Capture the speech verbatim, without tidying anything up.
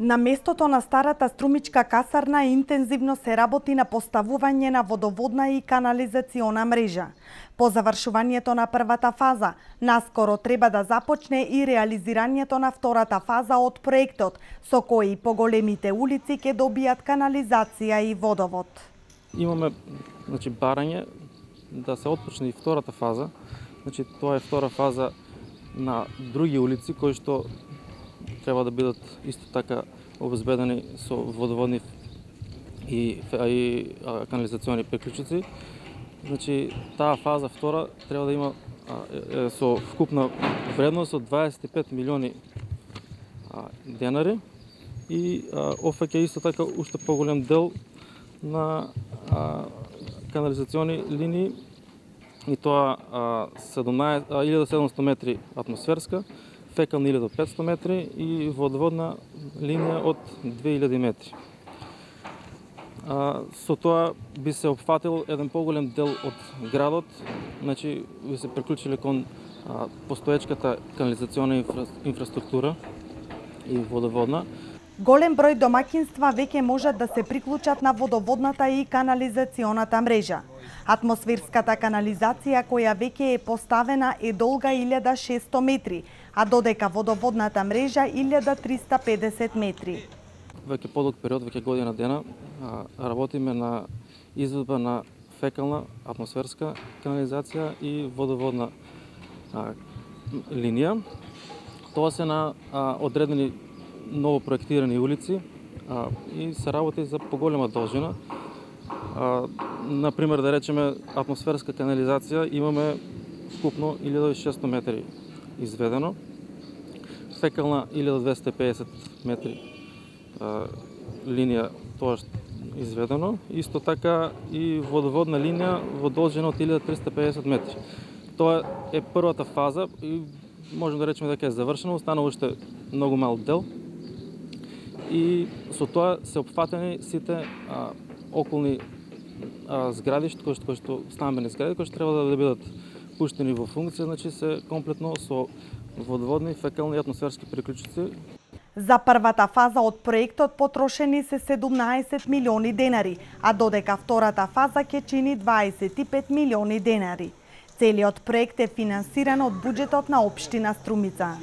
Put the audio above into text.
На местото на старата струмичка касарна интензивно се работи на поставување на водоводна и канализациона мрежа. По завршувањето на првата фаза, наскоро треба да започне и реализирањето на втората фаза од проектот, со кој поголемите улици ќе добијат канализација и водовод. Имаме значи, барање да се отпочне и втората фаза. Значи, тоа е втора фаза на други улици кои што треба да бидат исто така обезбедени со водоводни и, и а, канализациони приклучици. Значи, таа фаза втора треба да има а, е, со вкупна вредност од дваесет и пет милиони а, денари и офаќа исто така уште поголем дел на а, канализациони линии и тоа илјада и седумстотини метри атмосферска, фекална илјада и петстотини метри и водоводна линија од две илјади метри. А, со тоа би се опфатил еден поголем дел од градот, значи би се приклучиле кон а, постоечката канализациона инфра, инфраструктура и водоводна. Голем број домаќинства веќе можат да се приклучат на водоводната и канализационата мрежа. Атмосферската канализација која веќе е поставена е долга илјада и шесто метри, а додека водоводната мрежа илјада триста и педесет метри. Веќе подолг период, веќе година дена, работиме на изведба на фекална атмосферска канализација и водоводна а, линија. Тоа се на а, одредени ново проектирани улици а, и се работи за поголема должина. А, например, да речеме, атмосферска канализација имаме вкупно илјада и шесто метри изведено, фекална илјада двесте и педесет метри а, линија тоа изведено, исто така и водоводна линија во должина од илјада триста и педесет метри. Тоа е првата фаза и можем да речеме дека е завршено, останува уште многу мал дел. И со тоа се опфатени сите а, околни а, згради, кои што, кои што стамбени згради, кои што треба да, да бидат пуштени во функција, значи се комплетно со водоводни, фекални и атмосферски приклучици. За првата фаза од проектот потрошени се седумнаесет милиони денари, а додека втората фаза ќе чини дваесет и пет милиони денари. Целиот проект е финансиран од буџетот на општина Струмица.